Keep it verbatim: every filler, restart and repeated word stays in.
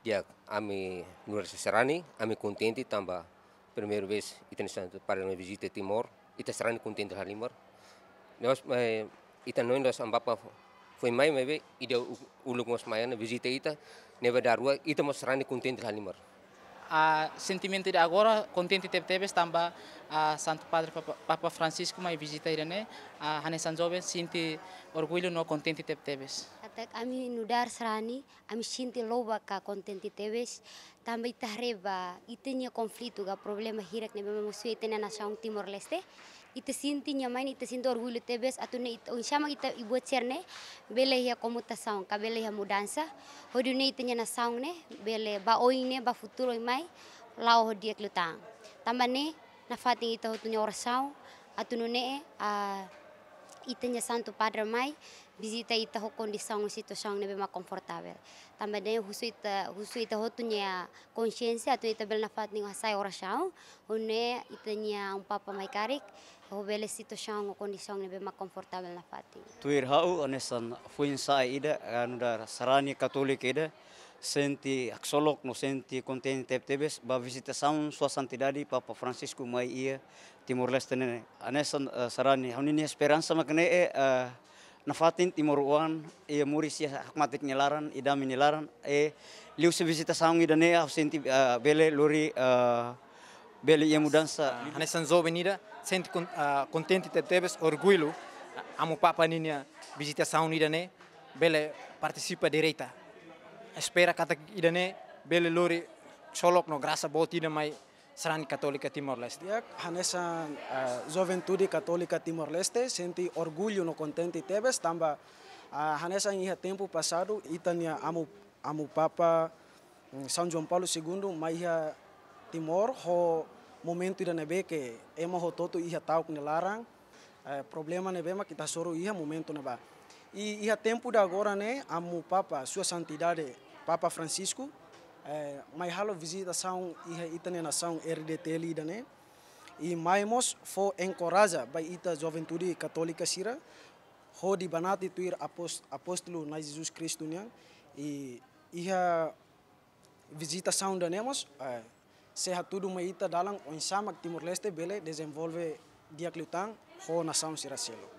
Ya, ami nu'udar sarani, ami kontente tanba primeira vez ita-nia Santu Padre mai vizita Timor, ita sarani kontente halimar. Nos, eh, ita no nos Amu Papa foin mai, maibé ida u-, uluk mós mai ona vizita ita, ne'ebé dala rua, ita mós sarani kontente halimar. Ah, sentimentu ida agora kontente tebetebes tanba, ah, Santu Padre Papa, Papa Francisco mai vizita ida-ne'e, ah, hanesan joven sente orgullu no kontente tebetebes. Katak ami nu'udar sarani, ami sente loba ka kontente tebes, tanba ita haree ba ita-nia konflitu ka problema hirak ne'ebé mak mosu iha ita-nia nasaun Timor-Leste. Ita sente nia mai ne'e, ita sente orgullu tebes, atu nune'e ita, oinsá mak ita ibu sira-ne'e bele iha komutasaun ka bele iha mudansa, hodi nune'e ita-nia nasaun ne'e bele ba oin ne'e, ba futuru oin mai, la'o ho di'ak liután. Tanba ne'e, nafatin ita hotu nia orasaun, atu nune'e, ah, ita-nia Santu Padre mai vizita ita ho kondisaun, situasaun ne'ebé mak konfortavel. Tanba ne'e husu ita, husu ita hotu nia konsiénsia, atu ita bele nafatin hasa'e orasaun, hodi nune'e ita-nia Amu Papa mai karik, ho bele situasaun ho kondisaun ne'ebé mak konfortavel nafatin. Tuir ha'u, hanesan foin-sa'e ida, ah, nu'udar sarani katólika ida, sente haksolok no sente kontente tebetebes ba vizitasaun Sua Santidade Papa Francisco mai iha Timor-Leste ne'e. Hanesan, eh, sarani, ha'u-nia esperansa mak ne'e, eh, nafatin timoroan, iha moris iha hakmatek nia laran, iha dame nia laran, eh, liuhusi vizitasaun ida-ne'e, ha'u sente, eh, bele lori, eh, bele iha mudansa. Ah, hanesan joven ida, sente kon-, ah, kontente tebetebes, orgullu, ah, Amu Papa ninia vizitasaun ida-ne'e, bele partisipa direta. Espera katak ida-ne'e bele lori haksolok no grasa boot ida mai sarani katólika Timor-Leste. Ya, hanesan, ah, juventude katólika Timor-Leste sente orgullu no kontente tebes tanba, ah, hanesan iha tempu pasadu ita-nia Amu, Amu Papa, mm, São João Paulo segundo mai iha Timor ho momentu ida ne'ebé ke ema hotu-hotu iha ta'uk nia laran, eh, problema ne'ebé mak ita hasoru iha momentu ne'ebá. I iha tempu ida agora ne'e, Amu Papa, Sua Santidade Papa Francisco, eh, mai halo vizitasaun iha ita-nia nasaun R D T L ida-ne'e. I mai mós fó enkoraja ba ita juventude katólika sira, hodi banati tuir após-, apóstolu Na'i Jesus Kristu nian, i iha vizitasaun ida-ne'e mós, eh, sei hatudu mai ita dalan oinsá mak Timor-Leste bele dezenvolve di'ak liután ho nasaun sira seluk.